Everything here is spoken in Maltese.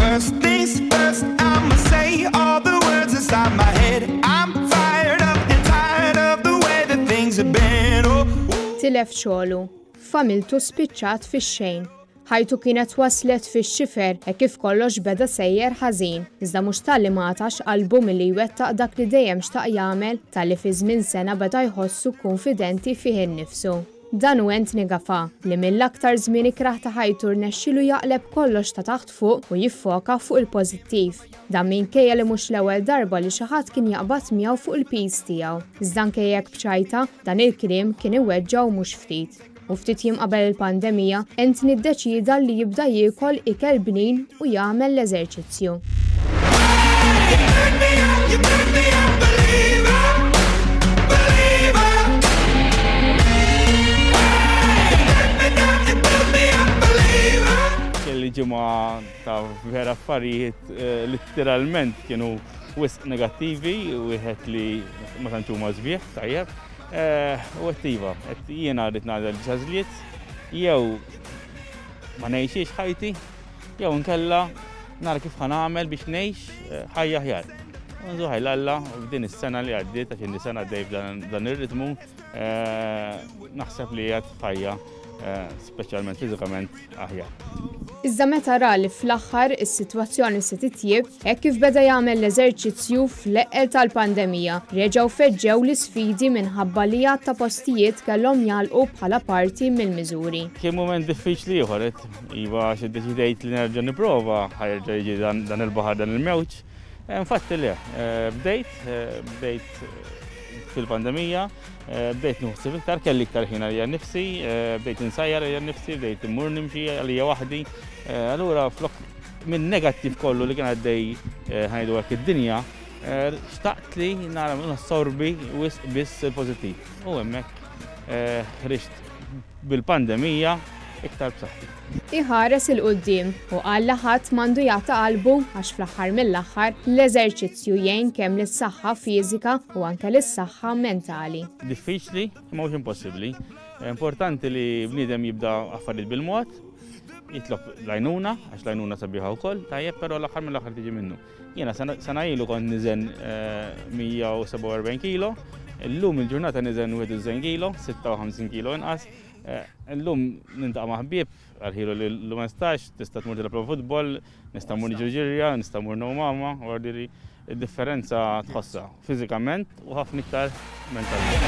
First things first, I'ma say all the words inside my head. I'm fired up and tired of the way that things have been. Oh. Tilef xogħlu, familtu spiċċat fix-xejn. Ħajtu kienet waslet fix-xifer hekk kif kollox beda sejjer ħażin. Iżda mhux talli ma qatax qalbu milli jwettaq dak li dejjem xtaq jagħmel, talli fi żmien sena beda jħossu kunfidenti fih innifsu. Dan hu Anthony Gafà, li mill-aktar żmien ikrah ta' ħajtu rnexxielu jaqleb kollox ta' taħt fuq u jiffoka fuq il-pożittiv. Dan minkejja li mhux l-ewwel darba li xi ħadd kien jaqbad miegħu fuq il-piż tiegħu. Iżda anke jekk b'ċajta, dan il-kliem kien iweġġgħu mhux ftit. U ftit jiem qabel il-pandemija, Anthony ddeċieda li jibda jiekol ikel bnin u jagħmel l-eżerċizzju. Kelli ġimgħa ta' vera affarijiet eh, litteralment kienu wisq negattivi, wieħed li ma tantx huma sbieħ, tajjeb. Eh, u għedt iva, għedt jiena rrid nagħżel biex għażliet, jew ma ngħixiex ħajti, jew inkella nara kif ħa nagħmel biex ngħix eh, ħajja aħjar. Nżu ħajla Alla f'din is-sena li għaddiet għax inni sena għaddej f'dan ir-ritmu, eh, naħseb li għad ħajja eh, speċjalment fiżikament aħjar. Iżda meta ra li fl-aħħar is-sitwazzjoni se titjieb, hekk kif beda jagħmel l-eżerċizzju fl-eqqel tal-pandemija, reġgħu feġġew l-isfidi minħabba li għadd ta' postijiet kellhom jagħlqu bħala parti mill-miżuri. Kien mument diffiċli ieħor, iva għax iddeċidejt li nerġa' nipprova, ħa jerġa' jiġi dan il-baħar dan il-mewġ. Infatti le, bdejt, bdejt fil-pandemija, bdejt nieħu ħsieb iktar, kelli iktar ħin għalija nnifsi, bdejt insajjar għalija nnifsi, bdejt immur nimxi għalija waħdi. Allura flok minn negattiv kollu li kien għaddej eh, ħajdu hekk id-dinja, eh, xtaqt li nara nassorbi wisq biss il-pożittiv. U hemmhekk eh, ħriġt bil-pandemija iktar b'saħħti. Iħares 'il quddiem u qal li ħadd m'għandu jaqta' qalbu għax fl-aħħar mill-aħħar l-eżerċizzju jgħin kemm lis-saħħa fiżika u anke lis-saħħa mentali. Diffiċli, imma mhux impossibbli. Importanti li bniedem jibda affarijiet bil-mod, jitlob l-għajnuna, għax l-għajnuna sabiħa wkoll, tajjeb, però l-aħħar mill-aħħar tiġi minnu. Jiena sena ilu kont niżen 147 eh, kilo, illum il-ġurnata niżen 91 kilo, 56 kilo inqas. Eh, illum nintaqa' ma' ħbieb, għal-ħilu li l-lum stax, tista' tmur tilgħab futbol, nista' mmur niġu ġirja, nista' mmur no mama, u għardiri id-differenza tħossha fiżikament u ħafna iktar mentalment.